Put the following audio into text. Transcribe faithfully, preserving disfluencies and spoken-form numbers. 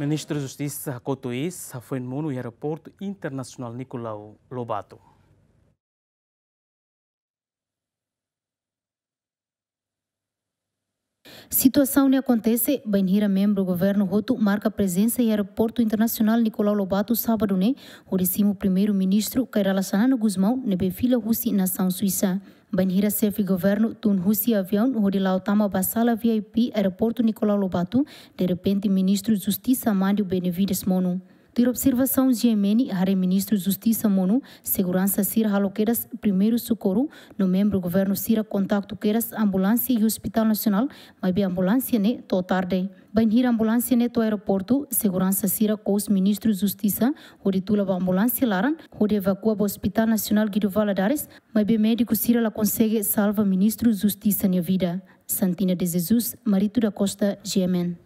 Ministru Justisa hakotu iis hafoin monu iha Aeroportu Internasionál Nicolau Lobato. Situasaun ne'e akontese bainhira membru governu hotu marka prezensa iha Aeroportu Internasionál Nicolau Lobato sábadu ne'e, hodi simu Primeiru-Ministru Kay Rala Xanana Gusmão ne'ebé fila husi nasaun Suisa. Bainhira xefe governu tun husi aviaun hodi la'o tama ba sala V I P Aeroportu Nicolau Lobato, derrepente Ministru Justisa Mandio Benavides monu. Tuir observasaun G M N, haree Ministru Justisa monu, seguransa sira halo kedas primeiru sokorru, no membru governu sira kontaktu kedas ambulánsia iha Hospitál Nasionál, maibé ambulánsia ne'e to'o tarde. Bainhira ambulánsia ne'e to'o aeroportu, seguransa sira kous Ministru Justisa hodi tula ba ambulánsia laran, hodi evakua ba Hospitál Nasionál Guido Valadares, maibé médiku sira la konsege salva Ministru Justisa nia vida. Santina de Jesus, Marito da Costa, G M N.